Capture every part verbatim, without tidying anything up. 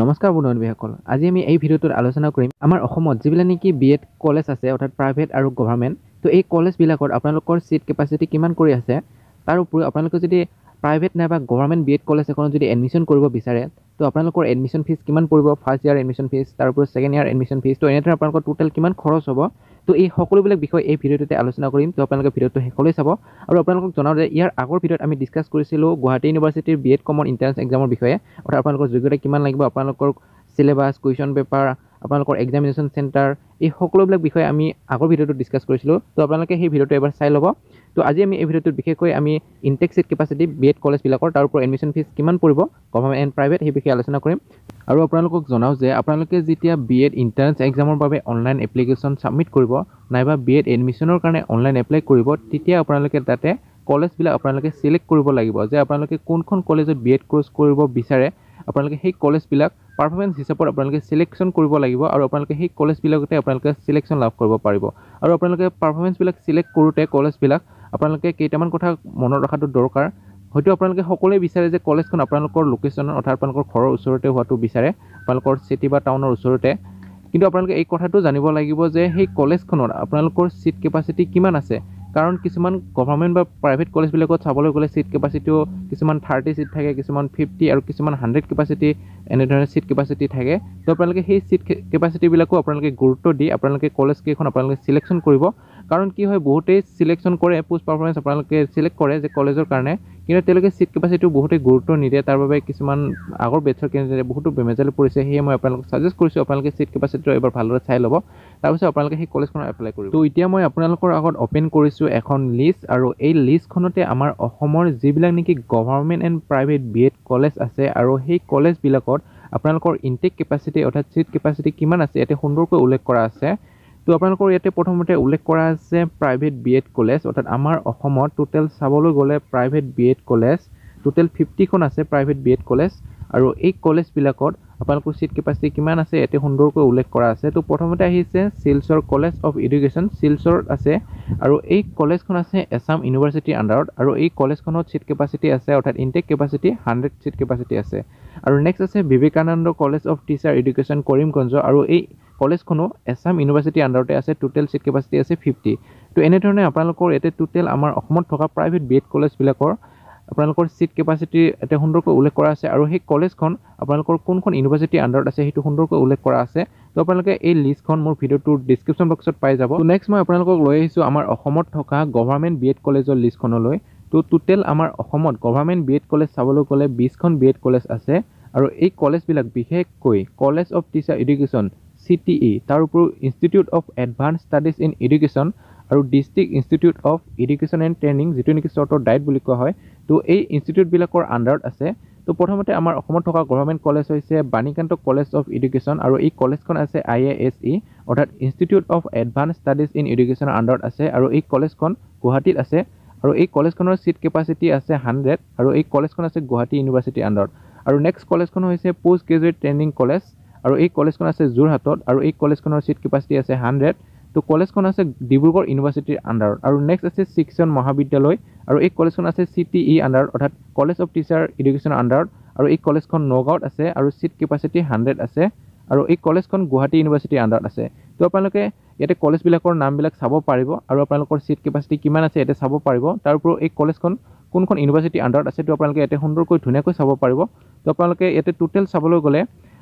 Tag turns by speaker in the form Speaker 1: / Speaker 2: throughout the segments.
Speaker 1: নমস্কাৰ বন্ধু বান্ধৱীসকল, আজি আমি এই ভিডিঅ'টোত আলোচনা কৰিম আমাৰ অসমত যিবিলাক নেকি বি এড কলেজ আছে, অৰ্থাৎ প্ৰাইভেট আৰু গভৰ্ণমেণ্ট, তো এই কলেজবিলাকত আপোনালোকৰ ছিট কেপাচিটি কিমান কৰি আছে। তাৰ উপৰিও আপোনালোকে যদি প্ৰাইভেট নাইবা গভৰ্ণমেণ্ট বি এড কলেজ এখনত যদি এডমিশ্যন কৰিব বিচাৰে, তো আপোনালোকৰ এডমিশ্যন ফিজ কিমান পৰিব, ফাৰ্ষ্ট ইয়াৰ এডমিশ্যন ফিজ, তাৰ উপৰিও ছেকেণ্ড ইয়াৰ এডমিশ্যন ফিজ, তো এনেদৰে আপোনালোকৰ টোটেল কিমান খৰচ হ'ব, তো এই সকলোবিলাক বিষয় এই ভিডিঅ'টোতে আলোচনা কৰিম। তো আপোনালোকে ভিডিঅ'টো শেষলৈ চাব। আৰু আপোনালোকক জনাওঁ যে ইয়াৰ আগৰ ভিডিঅ'ত আমি ডিছকাছ কৰিছিলোঁ গুৱাহাটী ইউনিভাৰ্চিটিৰ বি এড কমন এণ্ট্ৰেঞ্চ এক্সামৰ বিষয়ে, অৰ্থাৎ আপোনালোকৰ যোগ্যতা কিমান লাগিব, আপোনালোকৰ চিলেবাছ, কুৱেশ্যন পেপাৰ, আপোনালোকৰ এক্সামিনেশ্যন চেণ্টাৰ, এই সকলোবিলাক বিষয়ে আমি আগৰ ভিডিঅ'টোত ডিছকাছ কৰিছিলোঁ। তো আপোনালোকে সেই ভিডিঅ'টো এবাৰ চাই ল'ব। তো আজি আমি এই ভিডিঅ'টোত বিশেষকৈ আমি intake seat capacity B Ed কলেজবিলাকৰ, তাৰ ওপৰত এডমিশ্যন ফিজ কিমান পৰিব গভৰ্ণমেণ্ট এণ্ড প্ৰাইভেট, সেই বিষয়ে আলোচনা কৰিম। আৰু আপোনালোকক জনাওঁ যে আপোনালোকে যেতিয়া বি এড এণ্ট্ৰেঞ্চ এক্সামৰ বাবে অনলাইন এপ্লিকেশ্যন ছাবমিট কৰিব নাইবা বি এড এডমিশ্যনৰ কাৰণে অনলাইন এপ্লাই কৰিব, তেতিয়া আপোনালোকে তাতে কলেজবিলাক আপোনালোকে চিলেক্ট কৰিব লাগিব যে আপোনালোকে কোনখন কলেজত বি এড কৰ্চ কৰিব বিচাৰে। আপোনালোকে সেই কলেজবিলাক পাৰফৰ্মেঞ্চ হিচাপত আপোনালোকে চিলেকশ্যন কৰিব লাগিব আৰু আপোনালোকে সেই কলেজবিলাকতে আপোনালোকে চিলেকশ্যন লাভ কৰিব পাৰিব। আৰু আপোনালোকে পাৰফৰ্মেঞ্চবিলাক চিলেক্ট কৰোঁতে কলেজবিলাক আপোনালোকে কেইটামান কথা মনত ৰখাটো দৰকাৰ। হয়তো আপোনালোকে সকলোৱে বিচাৰে যে কলেজখন আপোনালোকৰ লোকেশ্যনৰ, অৰ্থাৎ আপোনালোকৰ ঘৰৰ ওচৰতে হোৱাটো বিচাৰে, আপোনালোকৰ চিটি বা টাউনৰ ওচৰতে। কিন্তু আপোনালোকে এই কথাটো জানিব লাগিব যে সেই কলেজখনত আপোনালোকৰ ছিট কেপাচিটি কিমান আছে। কাৰণ কিছুমান গভৰ্ণমেণ্ট বা প্ৰাইভেট কলেজবিলাকত চাবলৈ গ'লে ছিট কেপাচিটিও কিছুমান থাৰ্টি ছিট থাকে, কিছুমান ফিফটি আৰু কিছুমান হাণ্ড্ৰেড কেপাচিটি, এনেধৰণে ছিট কেপাচিটি থাকে। তো আপোনালোকে সেই ছিট কেপাচিটিবিলাকো আপোনালোকে গুৰুত্ব দি আপোনালোকে কলেজকেইখন আপোনালোকে চিলেকশ্যন কৰিব। কাৰণ কি হয়, বহুতেই চিলেকশ্যন কৰে, পোষ্ট পাৰফৰ্মেঞ্চ আপোনালোকে চিলেক্ট কৰে যে কলেজৰ কাৰণে, কিন্তু তেওঁলোকে ছিট কেপাচিটিও বহুতেই গুৰুত্ব নিদিয়ে। তাৰ বাবে কিছুমান আগৰ বেটছৰ কেণ্ডিডেটে বহুতো বেমেজালি পৰিছে। সেয়ে মই আপোনালোকক ছাজেষ্ট কৰিছোঁ আপোনালোকে ছিট কেপাচিটিটো এবাৰ ভালদৰে চাই ল'ব, তাৰপিছত আপোনালোকে সেই কলেজখনত এপ্লাই কৰিব। তো এতিয়া মই আপোনালোকৰ আগত অ'পেন কৰিছোঁ এখন লিষ্ট, আৰু এই লিষ্টখনতে আমাৰ অসমৰ যিবিলাক নেকি government and private B Ed college আছে আৰু সেই কলেজবিলাকত আপোনালোকৰ ইনটেক কেপাচিটি অৰ্থাৎ ছিট কেপাচিটি কিমান আছে ইয়াতে সুন্দৰকৈ উল্লেখ কৰা আছে। তো আপোনালোকৰ ইয়াতে প্ৰথমতে উল্লেখ কৰা আছে প্ৰাইভেট বি এড কলেজ, অৰ্থাৎ আমাৰ অসমত টোটেল চাবলৈ গ'লে private B Ed college total ফিফটিখন আছে প্ৰাইভেট বি এড কলেজ। আৰু এই কলেজবিলাকত আপোনালোকৰ ছিট কেপাচিটি কিমান আছে ইয়াতে সুন্দৰকৈ উল্লেখ কৰা আছে। তো প্ৰথমতে আহিছে শিলচৰ কলেজ অফ এডুকেশ্যন, শিলচৰত আছে আৰু এই কলেজখন আছে এছাম ইউনিভাৰ্চিটিৰ আণ্ডাৰত আৰু এই কলেজখনত ছিট কেপাচিটি আছে, অৰ্থাৎ intake capacity hundred seat capacity আছে। আৰু নেক্সট আছে Vivekananda college of teacher education Karimganj, আৰু এই কলেজখনো এছাম ইউনিভাৰ্চিটিৰ আণ্ডাৰতে আছে, টোটেল ছিট কেপাচিটি আছে ফিফটি। তো এনেধৰণে আপোনালোকৰ ইয়াতে টোটেল আমাৰ অসমত থকা প্ৰাইভেট বি এড কলেজবিলাকৰ আপোনালোকৰ ছিট কেপাচিটি ইয়াতে সুন্দৰকৈ উল্লেখ কৰা আছে আৰু সেই কলেজখন আপোনালোকৰ কোনখন ইউনিভাৰ্চিটিৰ আণ্ডাৰত আছে সেইটো সুন্দৰকৈ উল্লেখ কৰা আছে। তো আপোনালোকে এই লিষ্টখন মোৰ ভিডিঅ'টোৰ ডিছক্ৰিপশ্যন বক্সত পাই যাব। তো নেক্সট মই আপোনালোকক লৈ আহিছোঁ আমাৰ অসমত থকা গভৰ্ণমেণ্ট বি এড কলেজৰ লিষ্টখনলৈ। তো টোটেল আমাৰ অসমত গভৰ্ণমেণ্ট বি এড কলেজ চাবলৈ গ'লে বিছখন বি এড কলেজ আছে আৰু এই কলেজবিলাক বিশেষকৈ college of teacher education C T ই, তাৰ উপৰিও institute of advance studies in education আৰু district institute of education and training, যিটো নেকি চৰ্টত ডাইট বুলি কোৱা হয়, তো এই ইনষ্টিটিউটবিলাকৰ আণ্ডাৰত আছে। তো প্ৰথমতে আমাৰ অসমত থকা গভৰ্ণমেণ্ট কলেজ হৈছে বাণীকান্ত কলেজ অফ এডুকেশ্যন আৰু এই কলেজখন আছে I A S ই, অৰ্থাৎ institute of advance studies in এডুকেশ্যনৰ আণ্ডাৰত আছে আৰু এই কলেজখন গুৱাহাটীত আছে আৰু এই কলেজখনৰ ছিট কেপাচিটি আছে হাণ্ড্ৰেড আৰু এই কলেজখন আছে গুৱাহাটী ইউনিভাৰ্চিটিৰ আণ্ডাৰত। আৰু নেক্সট কলেজখন হৈছে পষ্ট গ্ৰেজুৱেট ট্ৰেইনিং কলেজ আৰু এই কলেজখন আছে যোৰহাটত আৰু এই কলেজখনৰ ছিট কেপাচিটি আছে হাণ্ড্ৰেড। তো কলেজখন আছে ডিব্ৰুগড় ইউনিভাৰ্চিটিৰ আণ্ডাৰত। আৰু নেক্সট আছে শিক্ষণ মহাবিদ্যালয় আৰু এই কলেজখন আছে চি টি ই আণ্ডাৰত, অৰ্থাৎ কলেজ অফ টিচাৰ এডুকেশ্যনৰ আণ্ডাৰত আৰু এই কলেজখন নগাঁৱত আছে আৰু ছিট কেপাচিটি হাণ্ড্ৰেড আছে আৰু এই কলেজখন গুৱাহাটী ইউনিভাৰ্চিটিৰ আণ্ডাৰত আছে। তো আপোনালোকে ইয়াতে কলেজবিলাকৰ নামবিলাক চাব পাৰিব আৰু আপোনালোকৰ ছিট কেপাচিটি কিমান আছে ইয়াতে চাব পাৰিব। তাৰ উপৰিও এই কলেজখন কোনখন ইউনিভাৰ্চিটিৰ আণ্ডাৰত আছে তো আপোনালোকে ইয়াতে সুন্দৰকৈ ধুনীয়াকৈ চাব পাৰিব। তো আপোনালোকে ইয়াতে টোটেল চাবলৈ গ'লে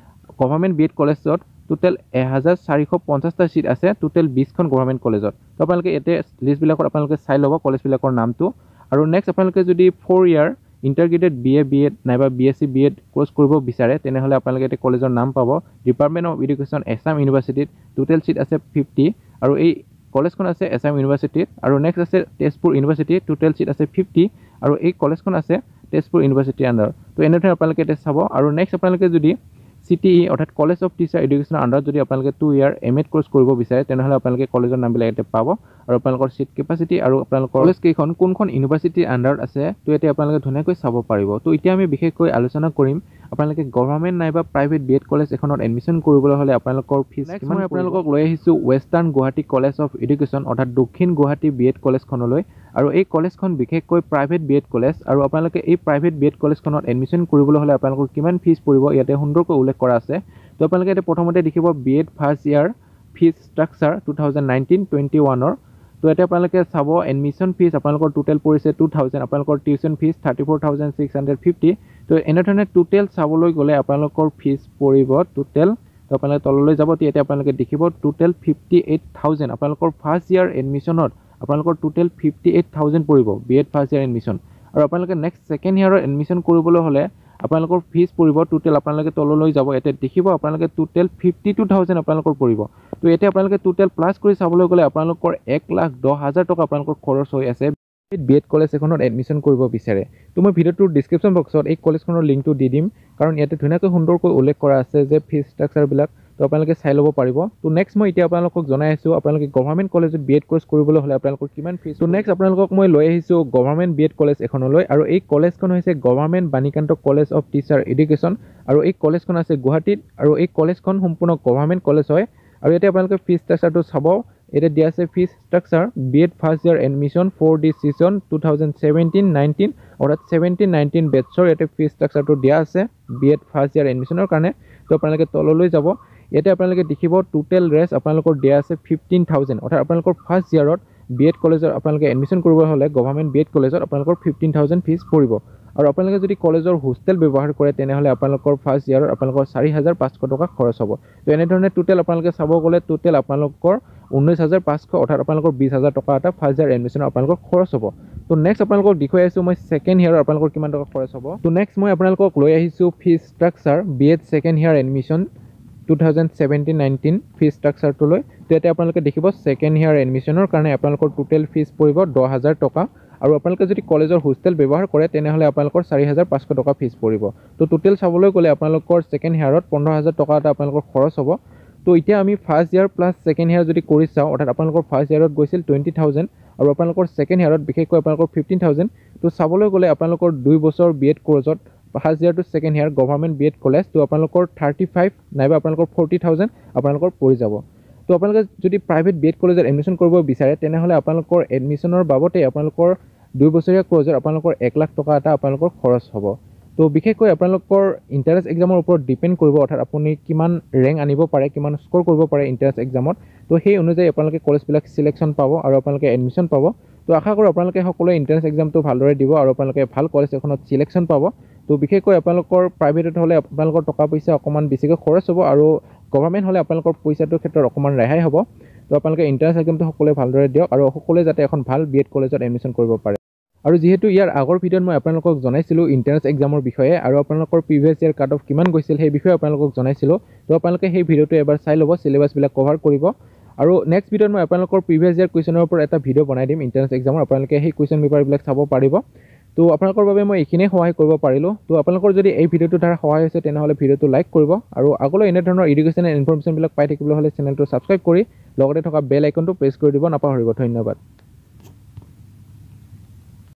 Speaker 1: গভৰ্ণমেণ্ট বি এড কলেজত টোটেল এহেজাৰ চাৰিশ পঞ্চাছটা ছিট আছে, টোটেল বিছখন গভৰ্ণমেণ্ট কলেজত। তো আপোনালোকে ইয়াতে লিষ্টবিলাকত আপোনালোকে চাই ল'ব কলেজবিলাকৰ নামটো। আৰু নেক্সট আপোনালোকে যদি four year integrated B A B Ed নাইবা B S C B Ed course কৰিব বিচাৰে তেনেহ'লে আপোনালোকে ইয়াতে কলেজৰ নাম পাব। ডিপাৰ্টমেণ্ট অফ এডুকেশ্যন এছাম ইউনিভাৰ্চিটিত টোটেল ছিট আছে ফিফটি আৰু এই কলেজখন আছে এছাম ইউনিভাৰ্চিটিত। আৰু নেক্সট আছে তেজপুৰ ইউনিভাৰ্চিটি, টোটেল ছিট আছে ফিফটি আৰু এই কলেজখন আছে তেজপুৰ ইউনিভাৰ্চিটিৰ আণ্ডাৰত। তো এনেধৰণে আপোনালোকে ইয়াতে চাব। আৰু নেক্সট আপোনালোকে যদি চি টি ই অৰ্থাৎ কলেজ অফ টিচাৰ এডুকেশ্যনৰ আণ্ডাৰত যদি আপোনালোকে two year M Ed course কৰিব বিচাৰে তেনেহ'লে আপোনালোকে কলেজৰ নামবিলাক ইয়াতে পাব। আৰু আপোনালোকৰ ছিট কেপাচিটি আৰু আপোনালোকৰ কলেজ কেইখন কোনখন ইউনিভাৰ্চিটিৰ আণ্ডাৰত আছে, তো ইয়াতে আপোনালোকে ধুনীয়াকৈ চাব পাৰিব। তো এতিয়া আমি বিশেষকৈ আলোচনা কৰিম আপোনালোকে গভৰ্ণমেণ্ট নাইবা প্ৰাইভেট বি এড কলেজ এখনত এডমিশ্যন কৰিবলৈ হ'লে আপোনালোকৰ ফিজ কিমান। মই আপোনালোকক লৈ আহিছোঁ western Guwahati college of education, অৰ্থাৎ দক্ষিণ গুৱাহাটী বি এড কলেজখনলৈ। আৰু এই কলেজখন বিশেষকৈ প্ৰাইভেট বি এড কলেজ, আৰু আপোনালোকে এই প্ৰাইভেট বি এড কলেজখনত এডমিশ্যন কৰিবলৈ হ'লে আপোনালোকৰ কিমান ফিজ পৰিব ইয়াতে সুন্দৰকৈ উল্লেখ কৰা আছে। তো আপোনালোকে ইয়াতে প্ৰথমতে দেখিব B Ed first year fees structure two thousand nineteen twenty ওৱানৰ। তো ইয়াতে আপোনালোকে চাব এডমিশ্যন ফিজ আপোনালোকৰ টোটেল পৰিছে টু থাউজেণ্ড, আপোনালোকৰ tuition fees thirty four thousand six hundred fifty. তো এনেধৰণে টোটেল চাবলৈ গ'লে আপোনালোকৰ ফিজ পৰিব টোটেল, তো আপোনালোকে তললৈ যাব, তেতিয়া আপোনালোকে দেখিব টোটেল ফিফটি এইট থাউজেণ্ড। আপোনালোকৰ ফাৰ্ষ্ট ইয়াৰ এডমিশ্যনত আপোনালোকৰ টোটেল ফিফটি এইট থাউজেণ্ড পৰিব B Ed first year admission. আৰু আপোনালোকে নেক্সট ছেকেণ্ড ইয়াৰৰ এডমিশ্যন কৰিবলৈ হ'লে আপোনালোকৰ ফিজ পৰিব টোটেল, আপোনালোকে তললৈ যাব, ইয়াতে দেখিব আপোনালোকে টোটেল ফিফটি টু থাউজেণ্ড আপোনালোকৰ পৰিব। তো এতিয়া আপোনালোকে টোটেল প্লাছ কৰি চাবলৈ গ'লে আপোনালোকৰ এক লাখ দহ হাজাৰ টকা আপোনালোকৰ খৰচ হৈ আছে বি এড কলেজ এখনত এডমিশ্যন কৰিব বিচাৰে। তো মই ভিডিঅ'টোৰ ডিছক্ৰিপশ্যন বক্সত এই কলেজখনৰ লিংকটো দি দিম, কাৰণ ইয়াতে ধুনীয়াকৈ সুন্দৰকৈ উল্লেখ কৰা আছে যে ফিজ ষ্ট্ৰাকচাৰবিলাক, তো আপোনালোকে চাই ল'ব পাৰিব। তো নেক্সট মই এতিয়া আপোনালোকক জনাই আছোঁ আপোনালোকে গভৰ্ণমেণ্ট কলেজত বি এড কৰ্চ কৰিবলৈ হ'লে আপোনালোকৰ কিমান ফিজ। তো নেক্সট আপোনালোকক মই লৈ আহিছোঁ গভৰ্ণমেণ্ট বি এড কলেজ এখনলৈ, আৰু এই কলেজখন হৈছে government Banikanta college of teacher education, আৰু এই কলেজখন আছে গুৱাহাটীত, আৰু এই কলেজখন সম্পূৰ্ণ গভৰ্ণমেণ্ট কলেজ হয়। আৰু ইয়াতে আপোনালোকে ফিজ ষ্ট্ৰাকচাৰটো চাব, এতিয়া দিয়া আছে fees structure B Ed first year admission for the session two thousand seventeen nineteen, অৰ্থাৎ ছেভেণ্টিন নাইনটিন বেটছৰ ইয়াতে ফিজ ষ্ট্ৰাকচাৰটো দিয়া আছে বি এড ফাৰ্ষ্ট ইয়াৰ এডমিশ্যনৰ কাৰণে। তো আপোনালোকে তললৈ যাব, ইয়াতে আপোনালোকে দেখিব টোটেল ৰেষ্ট আপোনালোকৰ দিয়া আছে ফিফটিন থাউজেণ্ড, অৰ্থাৎ আপোনালোকৰ ফাৰ্ষ্ট ইয়াৰত বি এড কলেজত আপোনালোকে এডমিশ্যন কৰিব হ'লে গভৰ্ণমেণ্ট বি এড কলেজত আপোনালোকৰ ফিফটিন থাউজেণ্ড ফিজ পৰিব। আৰু আপোনালোকে যদি কলেজৰ হোষ্টেল ব্যৱহাৰ কৰে তেনেহ'লে আপোনালোকৰ ফাৰ্ষ্ট ইয়াৰত আপোনালোকৰ চাৰি হাজাৰ পাঁচশ টকা খৰচ হ'ব। তো এনেধৰণে টোটেল আপোনালোকে চাব গ'লে টোটেল আপোনালোকৰ ঊনৈছ হাজাৰ পাঁচশ, অৰ্থাৎ আপোনালোকৰ বিছ হাজাৰ টকা এটা ফাৰ্ষ্ট ইয়াৰ এডমিশ্যনৰ আপোনালোকৰ খৰচ হ'ব। তো নেক্সট আপোনালোকক দেখুৱাই আছোঁ মই ছেকেণ্ড ইয়াৰৰ আপোনালোকৰ কিমান টকা খৰচ হ'ব। তো নেক্সট মই আপোনালোকক লৈ আহিছোঁ fees structure B Ed second year admission two thousand seventeen nineteen fees ষ্ট্ৰাকচাৰটোলৈ। তো ইয়াতে আপোনালোকে দেখিব ছেকেণ্ড ইয়াৰ এডমিশ্যনৰ কাৰণে আপোনালোকৰ টোটেল ফিজ পৰিব দহ হাজাৰ টকা, আৰু আপোনালোকে যদি কলেজৰ হোষ্টেল ব্যৱহাৰ কৰে তেনেহ'লে আপোনালোকৰ চাৰি হাজাৰ পাঁচশ টকা ফিজ পৰিব। তো টোটেল চাবলৈ গ'লে আপোনালোকৰ ছেকেণ্ড ইয়াৰত পোন্ধৰ হাজাৰ টকা এটা আপোনালোকৰ খৰচ হ'ব। তো এতিয়া আমি first year plus second year যদি কৰি চাওঁ, অৰ্থাৎ আপোনালোকৰ ফাৰ্ষ্ট ইয়াৰত গৈছিল টুৱেণ্টি থাউজেণ্ড আৰু আপোনালোকৰ ছেকেণ্ড ইয়াৰত বিশেষকৈ আপোনালোকৰ ফিফটিন থাউজেণ্ড। তো চাবলৈ গ'লে আপোনালোকৰ দুই বছৰ বি এড কৰ্চত first year to second year government B Ed college, তো আপোনালোকৰ থাৰ্টি ফাইভ নাইবা আপোনালোকৰ ফৰ্টি থাউজেণ্ড আপোনালোকৰ পৰি যাব। তো আপোনালোকে যদি প্ৰাইভেট বি এড কলেজত এডমিশ্যন কৰিব বিচাৰে তেনেহ'লে আপোনালোকৰ এডমিশ্যনৰ বাবদে আপোনালোকৰ দুই বছৰীয়া কৰ্চত আপোনালোকৰ এক লাখ টকা এটা আপোনালোকৰ খৰচ হ'ব। তো বিশেষকৈ আপোনালোকৰ এণ্ট্ৰেঞ্চ এক্সামৰ ওপৰত ডিপেণ্ড কৰিব, অৰ্থাৎ আপুনি কিমান ৰেংক আনিব পাৰে, কিমান স্ক'ৰ কৰিব পাৰে এণ্ট্ৰেঞ্চ এক্সামত, তো সেই অনুযায়ী আপোনালোকে কলেজবিলাক চিলেকশ্যন পাব আৰু আপোনালোকে এডমিশ্যন পাব। তো আশা কৰোঁ আপোনালোকে সকলোৱে এণ্ট্ৰেঞ্চ এক্সামটো ভালদৰে দিব আৰু আপোনালোকে ভাল কলেজ এখনত চিলেকশ্যন পাব। তো বিশেষকৈ আপোনালোকৰ প্ৰাইভেটত হ'লে আপোনালোকৰ টকা পইচা অকণমান বেছিকৈ খৰচ হ'ব আৰু গভৰ্ণমেণ্ট হ'লে আপোনালোকৰ পইচাটোৰ ক্ষেত্ৰত অকণমান ৰেহাই হ'ব। তো আপোনালোকে এণ্ট্ৰেঞ্চ এক্সামটো সকলোৱে ভালদৰে দিয়ক আৰু সকলোৱে যাতে এখন ভাল বি এড কলেজত এডমিশ্যন কৰিব পাৰে। আৰু যিহেতু ইয়াৰ আগৰ ভিডিঅ'ত মই আপোনালোকক জনাইছিলোঁ এণ্ট্ৰেঞ্চ এক্সামৰ বিষয়ে আৰু আপোনালোকৰ প্ৰিভিয়াছ ইয়াৰ কাট অফ কিমান গৈছিল সেই বিষয়ে আপোনালোকক জনাইছিলোঁ, তো আপোনালোকে সেই ভিডিঅ'টো এবাৰ চাই ল'ব, চিলেবাছবিলাক কভাৰ কৰিব। আৰু নেক্সট ভিডিঅ'ত মই আপোনালোকৰ প্ৰিভিয়াছ ইয়াৰ কুৱেশ্যনৰ ওপৰত এটা ভিডিঅ' বনাই দিম এণ্ট্ৰেঞ্চ এক্সামৰ, আপোনালোকে সেই কুৱেশ্যন পেপাৰবিলাক চাব পাৰিব। তো আপোনালোকৰ বাবে মই এইখিনিয়ে সহায় কৰিব পাৰিলোঁ। তো আপোনালোকৰ যদি এই ভিডিঅ'টোৰ দ্বাৰা সহায় হৈছে তেনেহ'লে ভিডিঅ'টো লাইক কৰিব আৰু আগলৈ এনেধৰণৰ এডুকেশ্যনেল ইনফৰমেশ্যনবিলাক পাই থাকিবলৈ হ'লে চেনেলটো ছাবস্ক্ৰাইব কৰি লগতে থকা বেল আইকনটো প্ৰেছ কৰি দিব নাপাহৰিব। ধন্যবাদ।